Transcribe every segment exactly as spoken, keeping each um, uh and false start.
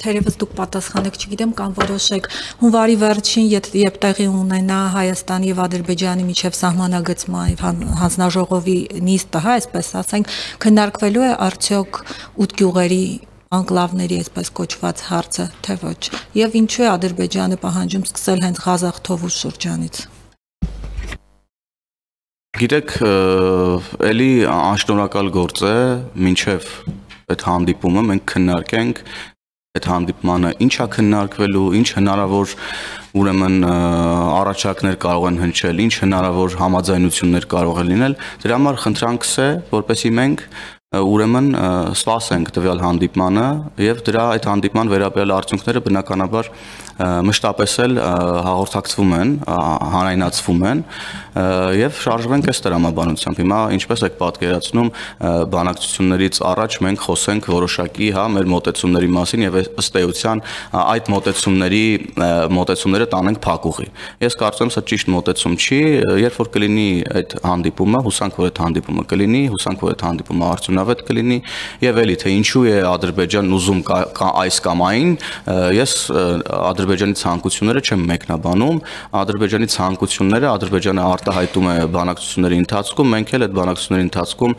Թերևս դուք պատասխանեք, չգիտեմ, կամ որոշեք հունվարի վերջին, երբ տեղի ունենա Հայաստանի եւ Ադրբեջանի միջև սահմանագծման հանձնաժողովի նիստը, հա, այսպես ասենք, քննարկվելու է արդյոք ութ գյուղերի անկլավների այսպես կոչված հարցը, թե ոչ, եւ ինչու է Ադրբեջանը պահանջում սկսել հենց Ղազախ Թովուզ շրջանից։ Գիտեք, էլի անշնորհակալ գործ է, մինչև այդ հանդիպումը մենք քննարկենք այդ հանդիպմանը ինչա քննարկվելու, ինչ հնարավոր ուրեմն առաջարկներ կարող են հնչել, ինչ հնարավոր համաձայնություններ կարող է լինել, դրա համար խնդրանքս է, որպեսզի մենք ուրեմն սպասենք տվյալ հանդիպմանը եւ դրա այդ հանդիպման վերաբերյալ արդյունքները բնականաբար մշտապես էլ հաղորդակցվում են, հանրայնացվում են եւ շարժվենք այս տրամաբանությամբ։ Հիմա ինչպես եք պատկերացնում, բանակցություններից առաջ մենք խոսենք որոշակի, հա, մեր մոտեցումների մասին եւ ըստ էության այդ մոտեցումների մոտեցումները տանենք փակուղի։ Ես կարծում եմ, սա ճիշտ մոտեցում չի, երբ որ կլինի այդ հանդիպումը, հուսանք որ այդ հանդիպումը կլինի, հուսանք որ այդ հանդիպումը արդյունավետ կլինի եւ էլի թե ինչու է Ադրբեջանն ուզում այս կամ այն, ես Ադրբեջանի ցանկությունները չեմ մեկնաբանում, Ադրբեջանի ցանկությունները Ադրբեջանը արտահայտում է բանակցությունների ընթացքում, մենք էլ այդ բանակցությունների ընթացքում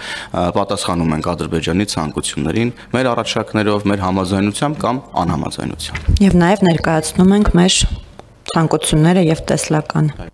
պատասխանում ենք Ադրբեջանի ցանկություններին, մեր առաջարկներով, մեր համաձայնությամբ կամ անհամաձայնությամբ։ Եվ նաև ներկայացնում ենք մեր ցանկությունները եւ տեսլականը։